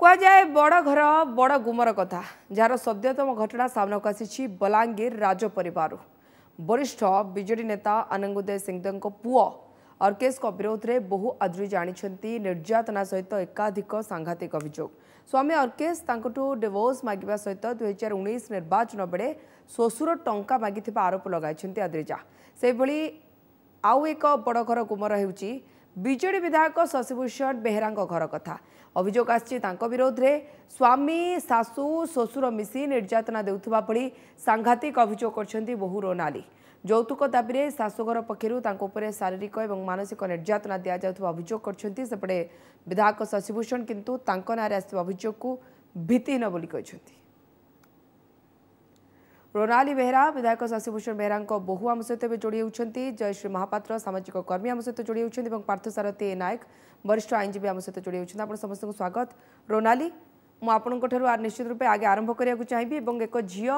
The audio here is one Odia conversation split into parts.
କୁହାଯାଏ ବଡ଼ ଘର ବଡ଼ ଗୁମର କଥା, ଯାହାର ସଦ୍ୟତମ ଘଟଣା ସାମ୍ନାକୁ ଆସିଛି ବଲାଙ୍ଗୀର ରାଜ ପରିବାରରୁ। ବରିଷ୍ଠ ବିଜେଡି ନେତା ଅନଙ୍ଗ ଉଦୟ ସିଂଦେଓଙ୍କ ପୁଅ ଅର୍କେଶଙ୍କ ବିରୋଧରେ ବହୁ ଆଦ୍ରିଜା ଆଣିଛନ୍ତି ନିର୍ଯାତନା ସହିତ ଏକାଧିକ ସାଂଘାତିକ ଅଭିଯୋଗ। ସ୍ୱାମୀ ଅର୍କେଶ ତାଙ୍କଠୁ ଡିଭୋର୍ସ ମାଗିବା ସହିତ 2019 ନିର୍ବାଚନ ବେଳେ ଶ୍ୱଶୁର ଟଙ୍କା ମାଗିଥିବା ଆରୋପ ଲଗାଇଛନ୍ତି ଆଦ୍ରିଜା। ସେହିଭଳି ଆଉ ଏକ ବଡ଼ ଘର ଗୁମର ହେଉଛି ବିଜେଡି ବିଧାୟକ ଶଶିଭୂଷଣ ବେହେରାଙ୍କ ଘର କଥା। ଅଭିଯୋଗ ଆସିଛି ତାଙ୍କ ବିରୋଧରେ ସ୍ୱାମୀ, ଶାଶୁ, ଶ୍ୱଶୁର ମିଶି ନିର୍ଯାତନା ଦେଉଥିବା ଭଳି ସାଂଘାତିକ ଅଭିଯୋଗ କରିଛନ୍ତି ବୋହୂ ରୋନାଲି। ଯୌତୁକ ଦାବିରେ ଶାଶୁଘର ପକ୍ଷରୁ ତାଙ୍କ ଉପରେ ଶାରୀରିକ ଏବଂ ମାନସିକ ନିର୍ଯାତନା ଦିଆଯାଉଥିବା ଅଭିଯୋଗ କରିଛନ୍ତି। ସେପଟେ ବିଧାୟକ ଶଶିଭୂଷଣ କିନ୍ତୁ ତାଙ୍କ ନାଁରେ ଆସିଥିବା ଅଭିଯୋଗକୁ ଭିତ୍ତିହୀନ ବୋଲି କହିଛନ୍ତି। ରୋନାଲି ବେହେରା ବିଧାୟକ ଶଶିଭୂଷଣ ବେହେରାଙ୍କ ବୋହୂ ଆମ ସହିତ ଏବେ ଯୋଡ଼ି ହେଉଛନ୍ତି। ଜୟଶ୍ରୀ ମହାପାତ୍ର ସାମାଜିକ କର୍ମୀ ଆମ ସହିତ ଯୋଡ଼ି ହେଉଛନ୍ତି ଏବଂ ପାର୍ଥସାରଥୀ ନାୟକ ବରିଷ୍ଠ ଆଇନଜୀବୀ ଆମ ସହିତ ଯୋଡ଼ି ହେଉଛନ୍ତି। ଆପଣ ସମସ୍ତଙ୍କୁ ସ୍ୱାଗତ। ରୋନାଲି, ମୁଁ ଆପଣଙ୍କ ଠାରୁ ନିଶ୍ଚିତ ରୂପେ ଆଗେ ଆରମ୍ଭ କରିବାକୁ ଚାହିଁବି ଏବଂ ଏକ ଝିଅ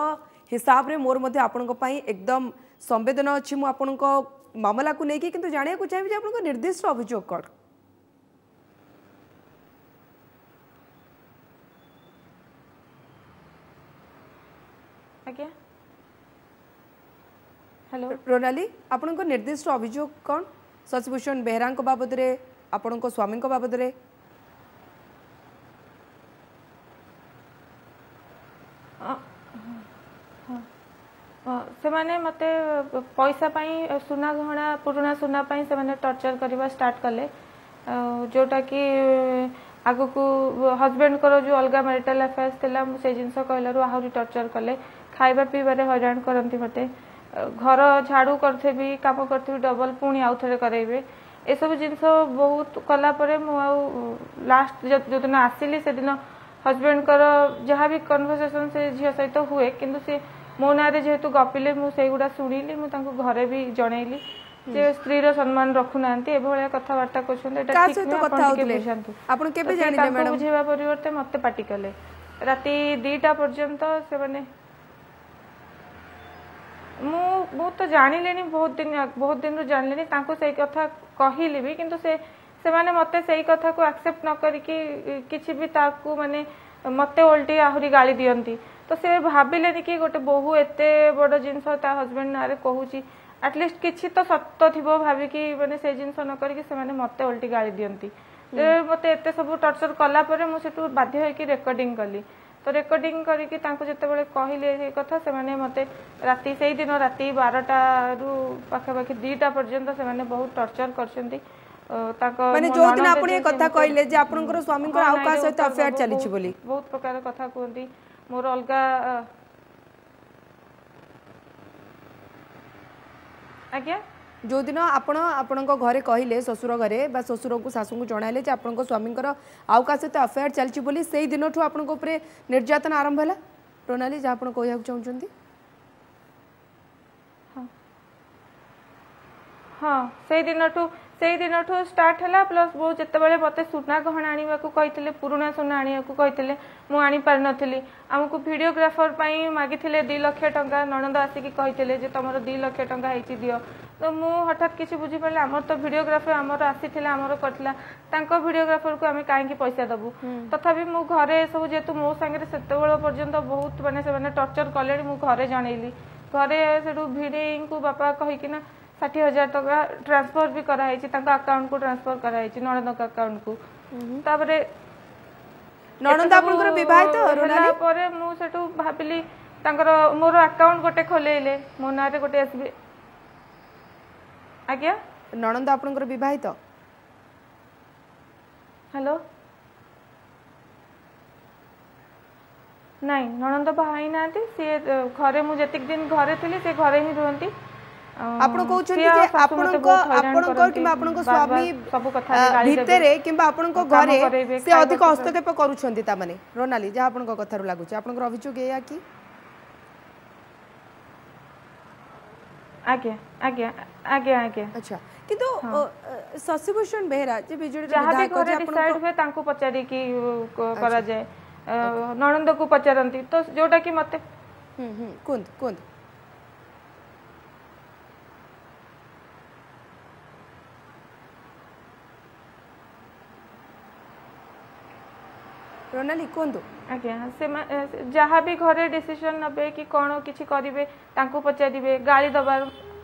ହିସାବରେ ମୋର ମଧ୍ୟ ଆପଣଙ୍କ ପାଇଁ ଏକଦମ ସମ୍ବେଦନା ଅଛି ମୁଁ ଆପଣଙ୍କ ମାମଲାକୁ ନେଇକି, କିନ୍ତୁ ଜାଣିବାକୁ ଚାହିଁବି ଯେ ଆପଣଙ୍କ ନିର୍ଦ୍ଦିଷ୍ଟ ଅଭିଯୋଗ କ'ଣ? ଆଜ୍ଞା, ହ୍ୟାଲୋ ରୋନାଲି, ଆପଣଙ୍କ ନିର୍ଦ୍ଦିଷ୍ଟ ଅଭିଯୋଗ କ'ଣ ଶଶିଭୂଷଣ ବେହେରାଙ୍କ ବାବଦରେ, ଆପଣଙ୍କ ସ୍ୱାମୀଙ୍କ ବାବଦରେ? ସେମାନେ ମୋତେ ପଇସା ପାଇଁ, ସୁନା ଗହଣା, ପୁରୁଣା ସୁନା ପାଇଁ ସେମାନେ ଟର୍ଚର କରିବା ଷ୍ଟାର୍ଟ କଲେ, ଯେଉଁଟାକି ଆଗକୁ ହଜବେଣ୍ଡଙ୍କର ଯେଉଁ ଅଲଗା ମ୍ୟାରିଟାଲ ଆଫେୟାର୍ସ ଥିଲା, ମୁଁ ସେଇ ଜିନିଷ କହିଲାରୁ ଆହୁରି ଟର୍ଚର କଲେ। ଖାଇବା ପିଇବାରେ ହଇରାଣ କରନ୍ତି ମୋତେ, ଘର ଝାଡ଼ୁ କରିଥିବି, କାମ କରିଥିବି, ଡବଲ ପୁଣି ଆଉ ଥରେ କରାଇବେ। ଏସବୁ ଜିନିଷ ବହୁତ କଲା ପରେ ମୁଁ ଆଉ ଲାଷ୍ଟ ଯେଉଁଦିନ ଆସିଲି ସେଦିନ ହଜବେଣ୍ଡଙ୍କର ଯାହା ବି କନଭରସେସନ ସେ ଝିଅ ସହିତ ହୁଏ, କିନ୍ତୁ ସେ ମୋ ନାଁରେ ଯେହେତୁ ଗପିଲେ ମୁଁ ସେଇଗୁଡ଼ା ଶୁଣିଲି। ମୁଁ ତାଙ୍କୁ ଘରେ ବି ଜଣେଇଲି ଯେ ସ୍ତ୍ରୀର ସମ୍ମାନ ରଖୁନାହାନ୍ତି, ଏଭଳିଆ କଥାବାର୍ତ୍ତା କରୁଛନ୍ତି, ଏଇଟା ଠିକ ନୁହେଁ, ଆପଣ ଟିକେ ବୁଝାନ୍ତୁ। ଆପଣ କେବେ ଜାଣିଲେ ମ୍ୟାଡାମ? ବୁଝେଇବା ପରିବର୍ତ୍ତେ ମତେ ପାଟି କଲେ ରାତି 2ଟା ପର୍ଯ୍ୟନ୍ତ ସେମାନେ। ମୁଁ ତ ଜାଣିଲିଣି ବହୁତ ଦିନ, ବହୁତ ଦିନରୁ ଜାଣିଲିଣି, ତାଙ୍କୁ ସେଇ କଥା କହିଲି ବି, କିନ୍ତୁ ସେ ସେମାନେ ମତେ ସେଇ କଥାକୁ ଆକ୍ସେପ୍ଟ ନ କରିକି କିଛି ବି ତାକୁ ମାନେ ମତେ ଓଲଟି ଆହୁରି ଗାଳି ଦିଅନ୍ତି। ତ ସେ ଭାବିଲେନି କି ଗୋଟେ ବୋହୂ ଏତେ ବଡ ଜିନିଷ ତା ହଜବେଣ୍ଡ ନାଁରେ କହୁଛି, ଆଟଲିଷ୍ଟ କିଛି ତ ସତ ଥିବ ଭାବିକି ମାନେ ସେ ଜିନିଷ ନ କରିକି ସେମାନେ ମତେ ଓଲଟି ଗାଳି ଦିଅନ୍ତି। ମତେ ଏତେ ସବୁ ଟର୍ଚର କଲା ପରେ ମୁଁ ସେଠୁ ବାଧ୍ୟ ହେଇକି ରେକର୍ଡିଂ କଲି। ତ ରେକର୍ଡିଂ କରିକି ତାଙ୍କୁ ଯେତେବେଳେ କହିଲେ ସେଇ କଥା, ସେମାନେ ମତେ ରାତି ସେଇଦିନ ରାତି 12ଟାରୁ ପାଖାପାଖି 2ଟା ପର୍ଯ୍ୟନ୍ତ ସେମାନେ ବହୁତ ଟର୍ଚର କରିଛନ୍ତି। ତାଙ୍କ ମାନେ ଯୋଉଦିନ ଆପଣ ଏ କଥା କହିଲେ ଯେ ଆପଣଙ୍କର ସ୍ୱାମୀଙ୍କର ଆଉ କାହା ସହିତ ଆଫେୟାର ଚାଲିଛି ବୋଲି ବହୁତ ପ୍ରକାର କଥା କୁହନ୍ତି। ମୋର ଅଲଗା ଆଜ୍ଞା, ଯେଉଁଦିନ ଆପଣ ଆପଣଙ୍କ ଘରେ କହିଲେ, ଶ୍ୱଶୁର ଘରେ ବା ଶ୍ୱଶୁରଙ୍କୁ ଶାଶୁଙ୍କୁ ଜଣାଇଲେ ଯେ ଆପଣଙ୍କ ସ୍ୱାମୀଙ୍କର ଆଉ କାହା ସହିତ ଆଫେୟାର ଚାଲିଛି ବୋଲି, ସେଇ ଦିନଠୁ ଆପଣଙ୍କ ଉପରେ ନିର୍ଯାତନା ଆରମ୍ଭ ହେଲା ରୋନାଲି, ଯାହା ଆପଣ କହିବାକୁ ଚାହୁଁଛନ୍ତି? ହଁ, ସେଇ ଦିନଠୁ ଷ୍ଟାର୍ଟ ହେଲା। ପ୍ଲସ୍ ବୋଉ ଯେତେବେଳେ ମୋତେ ସୁନା ଗହଣା ଆଣିବାକୁ କହିଥିଲେ, ପୁରୁଣା ସୁନା ଆଣିବାକୁ କହିଥିଲେ, ମୁଁ ଆଣିପାରିନଥିଲି। ଆମକୁ ଭିଡ଼ିଓଗ୍ରାଫର ପାଇଁ ମାଗିଥିଲେ 2 ଲକ୍ଷ ଟଙ୍କା। ନଣନ୍ଦ ଆସିକି କହିଥିଲେ ଯେ ତମର 2 ଲକ୍ଷ ଟଙ୍କା ହେଇଛି ଦିଅ। ତ ମୁଁ ହଠାତ୍ କିଛି ବୁଝିପାରିଲି, ଆମର ତ ଭିଡ଼ିଓଗ୍ରାଫର ଆମର ଆସିଥିଲା, ଆମର କରିଥିଲା, ତାଙ୍କ ଭିଡ଼ିଓଗ୍ରାଫରକୁ ଆମେ କାହିଁକି ପଇସା ଦବୁ? ତଥାପି ମୁଁ ଘରେ ସବୁ ଯେହେତୁ ମୋ ସାଙ୍ଗରେ ସେତେବେଳେ ପର୍ଯ୍ୟନ୍ତ ବହୁତ ମାନେ ସେମାନେ ଟର୍ଚର କଲେଣି, ମୁଁ ଘରେ ଜଣେଇଲି। ଘରେ ସେଠୁ ଭିଣେଇଙ୍କୁ ବାପା କହିକିନା 60,000 ଟଙ୍କା ଟ୍ରାନ୍ସଫର ବି କରାହେଇଛି, ତାଙ୍କ ଆକାଉଣ୍ଟକୁ ଟ୍ରାନ୍ସଫର କରାହେଇଛି, ନଣନ୍ଦଙ୍କ ଆକାଉଣ୍ଟକୁ। ତାପରେ ନଣନ୍ଦ ଆପଣଙ୍କର ବିବାହିତ? ହେଲା ପରେ ମୁଁ ସେଠୁ ଭାବିଲି ତାଙ୍କର ମୋର ଆକାଉଣ୍ଟ ଗୋଟେ ଖୋଲେଇଲେ ମୋ ନାଁରେ ଗୋଟେ ଏସ୍ ବି। ଆଜ୍ଞା, ନଣନ୍ଦ ଆପଣଙ୍କର ବିବାହିତ? ହ୍ୟାଲୋ, ନାଇଁ, ନଣନ୍ଦ ବାହା ହେଇନାହାନ୍ତି। ସିଏ ଘରେ, ମୁଁ ଯେତିକି ଦିନ ଘରେ ଥିଲି ସେ ଘରେ ହିଁ ରୁହନ୍ତି। ଆପଣ କହୁଛନ୍ତି ଯେ ଆପଣଙ୍କ କିମ୍ବା ଆପଣଙ୍କ ସ୍ୱାମୀ ଭିତରେ କିମ୍ବା ଆପଣଙ୍କ ଘରେ ସେ ଅଧିକ ହସ୍ତକ୍ଷେପ କରୁଛନ୍ତି, ତା ମାନେ ରୋନାଲି ଯାହା ଆପଣଙ୍କ କଥାରୁ ଲାଗୁଛି ଆପଣଙ୍କର ଅଭିଯୋଗ ଏଇଆ କି? ଆଜ୍ଞା ଆଜ୍ଞା ଆଜ୍ଞା ଆଜ୍ଞା। ଆଚ୍ଛା, କିନ୍ତୁ ଶଶିଭୂଷଣ ବେହେରା ଯେ ବିଜେଡି ଯାହା ବି ଘରେ ଡିସାଇଡ୍ ହୁଏ ତାଙ୍କୁ ପଚାରିକି କରାଯାଏ, ନଣନ୍ଦକୁ ପଚାରନ୍ତି, ତ ଯୋଉଟା କି ମତେ କୁହନ୍ତୁ କୁହନ୍ତୁ। ରୋନାଲି କୁହନ୍ତୁ। ଆଜ୍ଞା, ସେମାନେ ଯାହା ବି ଘରେ ଡିସିସନ୍ ନେବେ କି କ'ଣ କିଛି କରିବେ ତାଙ୍କୁ ପଚାରିବେ। ଗାଳି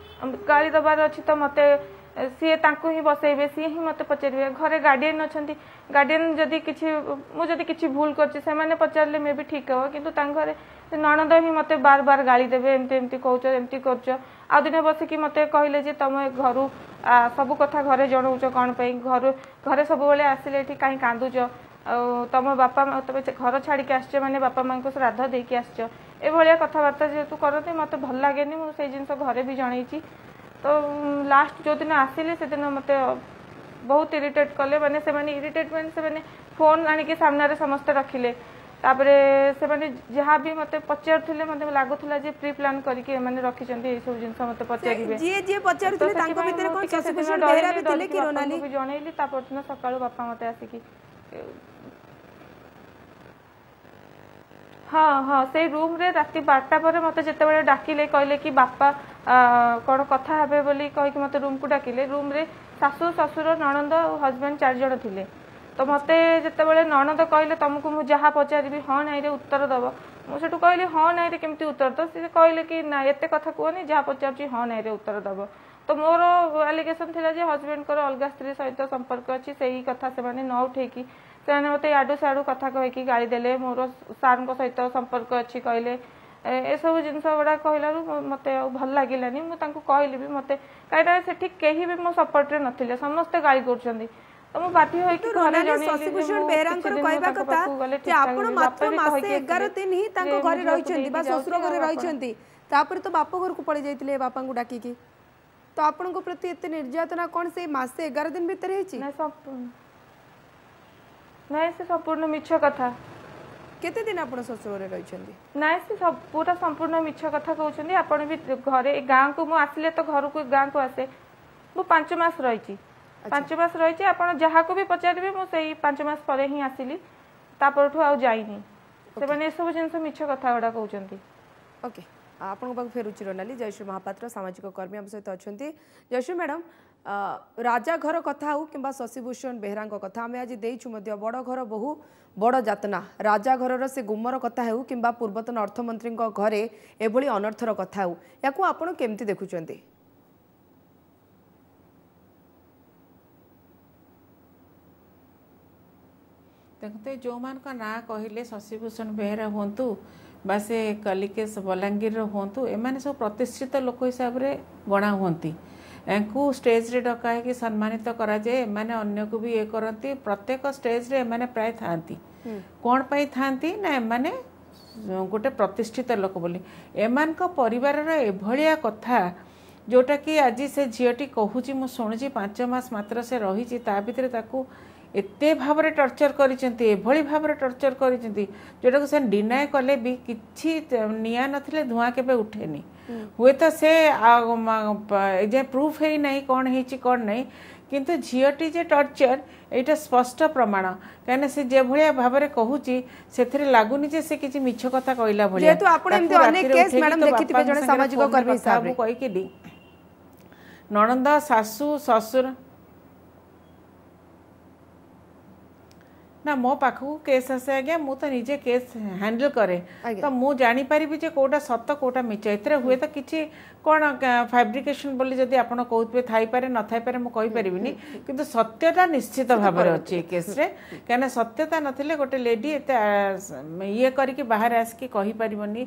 ଦେବାର ଅଛି ତ ମୋତେ ସିଏ ତାଙ୍କୁ ହିଁ ବସେଇବେ, ସିଏ ହିଁ ମୋତେ ପଚାରିବେ। ଘରେ ଗାର୍ଡ଼ିଆନ୍ ଅଛନ୍ତି, ଗାର୍ଡ଼ିଆନ୍ ଯଦି କିଛି, ମୁଁ ଯଦି କିଛି ଭୁଲ କରିଛି, ସେମାନେ ପଚାରିଲେ ମେ ବି ଠିକ୍ ହେବ। କିନ୍ତୁ ତାଙ୍କ ଘରେ ସେ ନଣନ୍ଦ ହିଁ ମୋତେ ବାର ବାର ଗାଳି ଦେବେ, ଏମିତି ଏମିତି କହୁଛ, ଏମିତି କରୁଛ। ଆଉ ଦିନେ ବସିକି ମୋତେ କହିଲେ ଯେ ତମେ ଘରୁ ସବୁ କଥା ଘରେ ଜଣଉଛ କ'ଣ ପାଇଁ? ଘରୁ ଘରେ ସବୁବେଳେ ଆସିଲେ ଏଠି କାହିଁ କାନ୍ଦୁଛ? ଆଉ ତମ ବାପା ତମେ ଘର ଛାଡ଼ିକି ଆସିଛ ମାନେ ବାପା ମାଆଙ୍କୁ ଶ୍ରାଦ୍ଧ ଦେଇକି ଆସିଛ। ଏଭଳିଆ କଥାବାର୍ତ୍ତା ଯେହେତୁ କରନ୍ତି, ମୋତେ ଭଲ ଲାଗେନି। ମୁଁ ସେଇ ଜିନିଷ ଘରେ ବି ଜଣେଇଛି। ତ ଲାଷ୍ଟ ଯେଉଁଦିନ ଆସିଲି, ସେଦିନ ମୋତେ ବହୁତ ଇରିଟେଟ୍ କଲେ। ମାନେ ସେମାନେ ଇରିଟେଟ୍ ମାନେ ସେମାନେ ଫୋନ୍ ଆଣିକି ସାମ୍ନାରେ ସମସ୍ତେ ରଖିଲେ। ତାପରେ ସେମାନେ ଯାହା ବି ମୋତେ ପଚାରୁଥିଲେ, ମୋତେ ଲାଗୁଥିଲା ଯେ ପ୍ରି ପ୍ଲାନ୍ କରିକି ଏମାନେ ରଖିଛନ୍ତି, ଏଇସବୁ ଜିନିଷ ମୋତେ ପଚାରିବେ। ଯିଏ ଯିଏ ପଚାରୁଥିଲେ, ତାଙ୍କ ଭିତରେ କଣ ଶଶିଭୂଷଣ ବେହେରା ବି ଥିଲେ କି ରୋନାଲି? ବି ଜଣେଇଲି। ତା ପରଦିନ ସକାଳୁ ବାପା ମୋତେ ଆସିକି, ହଁ, ସେଇ ରୁମ୍ରେ ରାତି 12ଟା ପରେ ମୋତେ ଯେତେବେଳେ ଡାକିଲେ, କହିଲେ କି ବାପା କ'ଣ କଥା ହେବେ ବୋଲି କହିକି ମୋତେ ରୁମ୍କୁ ଡାକିଲେ। ରୁମ୍ରେ ଶାଶୁ, ଶ୍ୱଶୁର, ନଣନ୍ଦ ଆଉ ହଜବେଣ୍ଡ ଚାରି ଜଣ ଥିଲେ। ତ ମୋତେ ଯେତେବେଳେ ନଣନ୍ଦ କହିଲେ, ତମକୁ ମୁଁ ଯାହା ପଚାରିବି ହଁ ନାଇଁରେ ଉତ୍ତର ଦେବ। ମୁଁ ସେଠୁ କହିଲି, ହଁ ନାଇଁରେ କେମିତି ଉତ୍ତର? ତ ସେ କହିଲେ କି ନା, ଏତେ କଥା କୁହନି, ଯାହା ପଚାରୁଛି ହଁ ନାଇଁରେ ଉତ୍ତର ଦେବ। ତ ମୋର ଆଲିଗେସନ୍ ଥିଲା ଯେ ହଜବେଣ୍ଡଙ୍କର ଅଲଗା ସ୍ତ୍ରୀ ସହିତ ସମ୍ପର୍କ ଅଛି। ସେଇ କଥା ସେମାନେ ନ ଉଠେଇକି ସେମାନେ ମୋତେ ଇଆଡ଼ୁ ସିଆଡ଼ୁ କଥା କହିକି ଗାଳି ଦେଲେ। ମୋର ସାର୍ଙ୍କ ସହିତ ସମ୍ପର୍କ ଅଛି କହିଲେ। ଏସବୁ ଜିନିଷ ଗୁଡ଼ା କହିଲାରୁ ମୋତେ ଆଉ ଭଲ ଲାଗିଲାନି। ମୁଁ ତାଙ୍କୁ କହିଲି ବି ମୋତେ, କାହିଁକିନା ସେଠି କେହି ବି ମୋ ସପୋର୍ଟରେ ନଥିଲେ, ସମସ୍ତେ ଗାଳି କରୁଛନ୍ତି। ତ ମୁଁ ବାଧ୍ୟ ହୋଇକି ଘରେ ଶଶିଭୂଷଣ ବେହେରାଙ୍କର କହିବା କଥା ଯେ ଆପଣ ମାତ୍ର ମାସେ 11 ଦିନ ହିଁ ତାଙ୍କ ଘରେ ରହିଛନ୍ତି ବା ଶ୍ୱଶୁର ଘରେ ରହିଛନ୍ତି, ତାପରେ ତ ବାପ ଘରକୁ ପଳେଇ ଯାଇଥିଲେ ବାପାଙ୍କୁ ଡାକିକି। ତ ଆପଣଙ୍କ ପ୍ରତି ଏତେ ନିର୍ଯାତନା କ'ଣ ସେଇ ମାସେ 11 ଦିନ ଭିତରେ ହେଇଛି? ନାଇଁ, ସେ ସମ୍ପୂର୍ଣ୍ଣ ମିଛ କଥା। କେତେ ଦିନ ଆପଣ ଶ୍ୱଶୁର ଘରେ ରହିଛନ୍ତି? ନାଇଁ, ସେ ପୁରା ସମ୍ପୂର୍ଣ୍ଣ ମିଛ କଥା କହୁଛନ୍ତି। ଆପଣ ବି ଘରେ ଗାଁକୁ ମୁଁ ଆସିଲେ ତ ଘରକୁ ଗାଁକୁ ଆସେ, ମୁଁ 5 ମାସ ରହିଛି, 5 ମାସ ରହିଛି। ଆପଣ ଯାହାକୁ ବି ପଚାରିବେ, ମୁଁ ସେଇ 5 ମାସ ପରେ ହିଁ ଆସିଲି, ତା ପରଠୁ ଆଉ ଯାଇନି। ସେମାନେ ଏସବୁ ଜିନିଷ ମିଛ କଥା ଗୁଡ଼ା କହୁଛନ୍ତି। ଓକେ, ଆପଣଙ୍କ ପାଖକୁ ଫେରୁଛି ରୋନାଲି। ଜୟଶ୍ରୀ ମହାପାତ୍ର ସାମାଜିକ କର୍ମୀ ଆମ ସହିତ ଅଛନ୍ତି। ଜୟଶ୍ରୀ ମ୍ୟାଡ଼ାମ୍, ରାଜା ଘର କଥା ହେଉ କିମ୍ବା ଶଶିଭୂଷଣ ବେହେରାଙ୍କ କଥା, ଆମେ ଆଜି ଦେଇଛୁ ମଧ୍ୟ ବଡ଼ ଘର ବହୁ ବଡ଼ ଯାତନା। ରାଜା ଘରର ସେ ଗୁମର କଥା ହେଉ କିମ୍ବା ପୂର୍ବତନ ଅର୍ଥମନ୍ତ୍ରୀଙ୍କ ଘରେ ଏଭଳି ଅନର୍ଥର କଥା ହେଉ, ୟାକୁ ଆପଣ କେମିତି ଦେଖୁଛନ୍ତି? ଦେଖନ୍ତୁ, ଯେଉଁମାନଙ୍କ ନାଁ କହିଲେ, ଶଶିଭୂଷଣ ବେହେରା ହୁଅନ୍ତୁ ବା ସେ କଲିକେଶ ବଲାଙ୍ଗୀରର ହୁଅନ୍ତୁ, ଏମାନେ ସବୁ ପ୍ରତିଷ୍ଠିତ ଲୋକ ହିସାବରେ ଗଣା ହୁଅନ୍ତି। ୟାଙ୍କୁ ଷ୍ଟେଜ୍ରେ ଡକା ହେଇକି ସମ୍ମାନିତ କରାଯାଏ। ଏମାନେ ଅନ୍ୟକୁ ବି ଇଏ କରନ୍ତି। ପ୍ରତ୍ୟେକ ଷ୍ଟେଜ୍ରେ ଏମାନେ ପ୍ରାୟ ଥାଆନ୍ତି। କ'ଣ ପାଇଁ ଥାଆନ୍ତି ନା ଏମାନେ ଗୋଟେ ପ୍ରତିଷ୍ଠିତ ଲୋକ ବୋଲି। ଏମାନଙ୍କ ପରିବାରର ଏଭଳିଆ କଥା ଯେଉଁଟାକି ଆଜି ସେ ଝିଅଟି କହୁଛି, ମୁଁ ଶୁଣୁଛି, 5 ମାସ ମାତ୍ର ସେ ରହିଛି, ତା ଭିତରେ ତାକୁ ଏତେ ଭାବରେ ଟର୍ଚର କରିଛନ୍ତି, ଏଭଳି ଭାବରେ ଟର୍ଚର କରିଛନ୍ତି ଯେଉଁଟାକୁ ସେ ଡିନାଏ କଲେ ବି କିଛି, ନିଆଁ ନଥିଲେ ଧୂଆଁ କେବେ ଉଠେନି। ହୁଏତ ସେ ଏଯାଏଁ ପ୍ରୁଫ୍ ହେଇନାହିଁ କ'ଣ ହେଇଛି କ'ଣ ନାହିଁ, କିନ୍ତୁ ଝିଅଟି ଯେ ଟର୍ଚର ଏଇଟା ସ୍ପଷ୍ଟ ପ୍ରମାଣ। କାହିଁକିନା ସେ ଯେଭଳିଆ ଭାବରେ କହୁଛି, ସେଥିରେ ଲାଗୁନି ଯେ ସେ କିଛି ମିଛ କଥା କହିଲା ଭଳିଆ। ଯେହେତୁ ଆପଣ ଏମିତି ଅନେକ କେସ୍ ମ୍ୟାଡ଼ାମ ଦେଖିଥିବେ ଜଣେ ସାମାଜିକ କର୍ମୀ ହିସାବରେ। କହିକି ନଣନ୍ଦ, ଶାଶୁ, ଶ୍ୱଶୁର। ନା, ମୋ ପାଖକୁ କେସ୍ ଆସେ ଆଜ୍ଞା, ମୁଁ ତ ନିଜେ କେସ୍ ହ୍ୟାଣ୍ଡେଲ୍ କରେ, ତ ମୁଁ ଜାଣିପାରିବି ଯେ କେଉଁଟା ସତ କେଉଁଟା ମିଛ। ଏଥିରେ ହୁଏତ କିଛି କ'ଣ ଫାବ୍ରିକେସନ୍ ବୋଲି ଯଦି ଆପଣ କହୁଥିବେ, ଥାଇପାରେ ନଥାଇପାରେ, ମୁଁ କହିପାରିବିନି। କିନ୍ତୁ ସତ୍ୟତା ନିଶ୍ଚିତ ଭାବରେ ଅଛି ଏ କେସ୍ରେ। କାହିଁକିନା ସତ୍ୟତା ନଥିଲେ ଗୋଟେ ଲେଡି ଏତେ ଇଏ କରିକି ବାହାରେ ଆସିକି କହିପାରିବନି,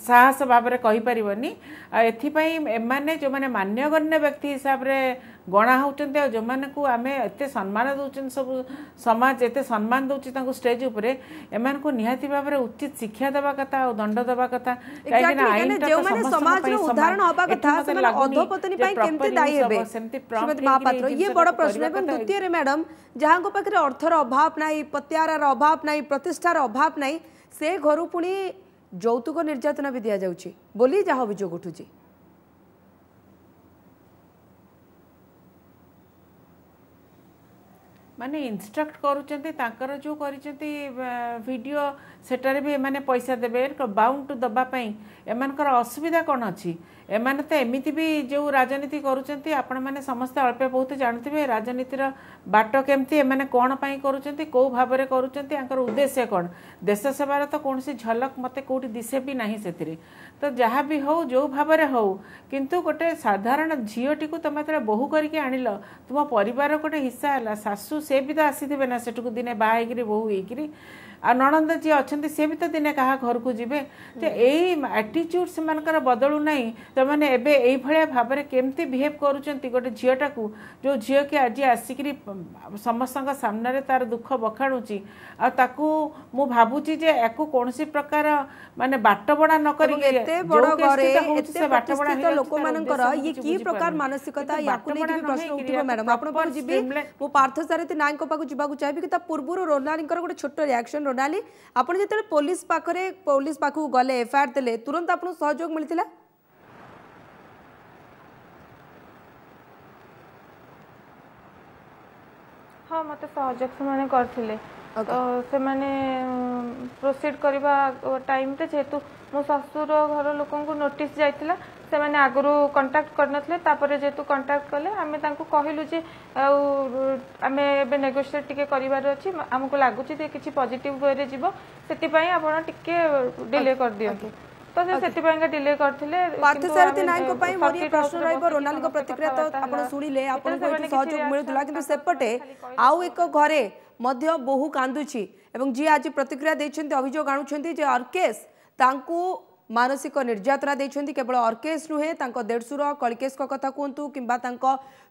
ସାହସ ଭାବରେ କହିପାରିବନି। ଆଉ ଏଥିପାଇଁ ଏମାନେ ଯେଉଁମାନେ ମାନ୍ୟଗଣ୍ୟ ବ୍ୟକ୍ତି ହିସାବରେ ଗଣା ହେଉଛନ୍ତି ଆଉ ଯେଉଁମାନଙ୍କୁ ଆମେ ଏତେ ସମ୍ମାନ ଦେଉଛନ୍ତି, ସବୁ ସମାଜ ଏତେ ସମ୍ମାନ ଦେଉଛି ତାଙ୍କୁ ଷ୍ଟେଜ୍ ଉପରେ, ଏମାନଙ୍କୁ ନିହାତି ଭାବରେ ଉଚିତ ଶିକ୍ଷା ଦେବା କଥା ଆଉ ଦଣ୍ଡ ଦେବା କଥା। କାହିଁକିନା ଆଇନଟା ସମାଜର ଉଦାହରଣ ହବା କଥା, ସେମାନେ ଅଧୋପତନୀ ପାଇଁ କେମିତି ଦାୟୀ ହେବେ ଶ୍ରୀମତୀ ମହାପାତ୍ର, ଇଏ ବଡ଼ ପ୍ରଶ୍ନ। ଏବଂ ଦ୍ୱିତୀୟରେ ମ୍ୟାଡ଼ାମ, ଯାହାଙ୍କ ପାଖରେ ଅର୍ଥର ଅଭାବ ନାହିଁ, ପତିଆରାର ଅଭାବ ନାହିଁ, ପ୍ରତିଷ୍ଠାର ଅଭାବ ନାହିଁ, ସେ ଘରୁ ପୁଣି ଯୌତୁକ ନିର୍ଯାତନା ବି ଦିଆଯାଉଛି ବୋଲି ଯାହା ଅଭିଯୋଗ ଉଠୁଛି। ମାନେ ଇନଷ୍ଟ୍ରକ୍ଟ କରୁଛନ୍ତି ତାଙ୍କର ଯେଉଁ କରିଛନ୍ତି ଭିଡ଼ିଓ, ସେଟାରେ ବି ଏମାନେ ପଇସା ଦେବେ। ବାଉଣ୍ଡ ଟୁ ଦେବା ପାଇଁ ଏମାନଙ୍କର ଅସୁବିଧା କ'ଣ ଅଛି? ଏମାନେ ତ ଏମିତି ବି ଯେଉଁ ରାଜନୀତି କରୁଛନ୍ତି, ଆପଣମାନେ ସମସ୍ତେ ଅଳ୍ପ ବହୁତ ଜାଣୁଥିବେ ରାଜନୀତିର ବାଟ କେମିତି, ଏମାନେ କ'ଣ ପାଇଁ କରୁଛନ୍ତି, କେଉଁ ଭାବରେ କରୁଛନ୍ତି, ୟାଙ୍କର ଉଦ୍ଦେଶ୍ୟ କ'ଣ। ଦେଶ ସେବାର ତ କୌଣସି ଝଲକ ମୋତେ କେଉଁଠି ଦିଶେ ବି ନାହିଁ ସେଥିରେ। ତ ଯାହା ବି ହଉ, ଯେଉଁ ଭାବରେ ହଉ, କିନ୍ତୁ ଗୋଟେ ସାଧାରଣ ଝିଅଟିକୁ ତୁମେ ଯେତେବେଳେ ବୋହୂ କରିକି ଆଣିଲ, ତୁମ ପରିବାର ଗୋଟେ ହିସ୍ସା ହେଲା। ଶାଶୁ ସେ ବି ତ ଆସିଥିବେ ନା ସେଠୁକୁ ଦିନେ ବାହା ହେଇକିରି ବୋହୂ ହେଇକିରି, ଆଉ ନଣନ୍ଦ ଯିଏ ଅଛନ୍ତି ସେ ବି ତ ଦିନେ କାହା ଘରକୁ ଯିବେ। ତ ଏଇ ଆଟିଚ୍ୟୁଡ଼ ସେମାନଙ୍କର ବଦଳୁ ନାହିଁ। ସେମାନେ ଏବେ ଏଇଭଳିଆ ଭାବରେ କେମିତି ବିହେଭ୍ କରୁଛନ୍ତି ଗୋଟେ ଝିଅଟାକୁ, ଯେଉଁ ଝିଅ କି ଆଜି ଆସିକିରି ସମସ୍ତଙ୍କ ସାମ୍ନାରେ ତାର ଦୁଃଖ ବଖାଣୁଛି। ଆଉ ତାକୁ ମୁଁ ଭାବୁଛି ଯେ ୟାକୁ କୌଣସି ପ୍ରକାର ମାନେ ବାଟବଣା ନ କରିକି, ଏତେ ବଡ଼ ଘରେ ଏତେ ପ୍ରତିଷ୍ଠିତ ଲୋକମାନଙ୍କର ଇଏ କି ପ୍ରକାର ମାନସିକତା, ୟାକୁ ନେଇକି ବି ପ୍ରଶ୍ନ ଉଠିବ। ମ୍ୟାଡ଼ାମ, ଆପଣଙ୍କ ପାଖକୁ ଯିବି, ମୁଁ ପାର୍ଥସାରଥୀ ନାୟକଙ୍କ ପାଖକୁ ଯିବାକୁ ଚାହିଁବି କି ତା ପୂର୍ବରୁ ରୋନାଲିଙ୍କର ଗୋଟେ ଛୋଟ ରିଆକ୍ସନ। ରୋନାଲି, ଆପଣ ଯେତେବେଳେ ପୋଲିସ ପାଖକୁ ଗଲେ, ଏଫଆଇଆର ଦେଲେ, ତୁରନ୍ତ ଆପଣଙ୍କୁ ସହଯୋଗ ମିଳିଥିଲା? ହଁ, ମୋତେ ସହଯୋଗ ସେମାନେ କରିଥିଲେ। ତ ସେମାନେ ପ୍ରୋସିଡ୍ କରିବା ଟାଇମ୍ରେ ଯେହେତୁ ମୋ ଶ୍ୱଶୁର ଘର ଲୋକଙ୍କୁ ନୋଟିସ୍ ଯାଇଥିଲା, ସେମାନେ ଆଗରୁ କଣ୍ଟାକ୍ଟ କରିନଥିଲେ। ତାପରେ ଯେହେତୁ କଣ୍ଟାକ୍ଟ କଲେ, ଆମେ ତାଙ୍କୁ କହିଲୁ ଯେ ଆଉ ଆମେ ଏବେ ନେଗୋସିଏଟ୍ ଟିକେ କରିବାର ଅଛି, ଆମକୁ ଲାଗୁଛି ଯେ କିଛି ପଜିଟିଭ୍ ୱେରେ ଯିବ, ସେଥିପାଇଁ ଆପଣ ଟିକେ ଡିଲେ କରିଦିଅନ୍ତୁ। ତ ସେ ସେଥିପାଇଁକା ଡିଲେ କରିଥିଲେ। ପାର୍ଥସାରଥୀ ନାୟକଙ୍କ ପାଇଁ ମୋର ଇଏ ପ୍ରଶ୍ନ ରହିବ। ରୋନାଲଙ୍କ ପ୍ରତିକ୍ରିୟା ତ ଆପଣ ଶୁଣିଲେ, ଆପଣଙ୍କୁ ଏଠି ସହଯୋଗ ମିଳୁଥିଲା, କିନ୍ତୁ ସେପଟେ ଆଉ ଏକ ଘରେ ମଧ୍ୟ ବୋହୂ କାନ୍ଦୁଛି ଏବଂ ଯିଏ ଆଜି ପ୍ରତିକ୍ରିୟା ଦେଇଛନ୍ତି, ଅଭିଯୋଗ ଆଣୁଛନ୍ତି ଯେ ଅର୍କେଶ ତାଙ୍କୁ ମାନସିକ ନିର୍ଯାତନା ଦେଇଛନ୍ତି। କେବଳ ଅର୍କେଶ ନୁହେଁ, ତାଙ୍କ ଦେଢ଼ଶୁର କଳିକେଶଙ୍କ କଥା କୁହନ୍ତୁ କିମ୍ବା ତାଙ୍କ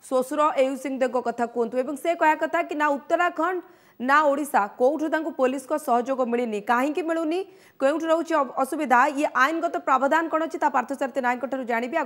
ଶ୍ୱଶୁର ଏୟୁ ସିଂଦେବଙ୍କ କଥା କୁହନ୍ତୁ, ଏବଂ ସେ କହିବା କଥା କି ନା ଉତ୍ତରାଖଣ୍ଡ ନା ଓଡ଼ିଶା କେଉଁଠୁ ତାଙ୍କୁ ପୋଲିସଙ୍କ ସହଯୋଗ ମିଳିନି। କାହିଁକି ମିଳୁନି, କେଉଁଠୁ ରହୁଛି ଅସୁବିଧା, ଇଏ ଆଇନଗତ ପ୍ରାବଧାନ କ'ଣ ଅଛି, ତା ପାର୍ଥସାରଥୀ ନାୟକଙ୍କ ଠାରୁ ଜାଣିବି।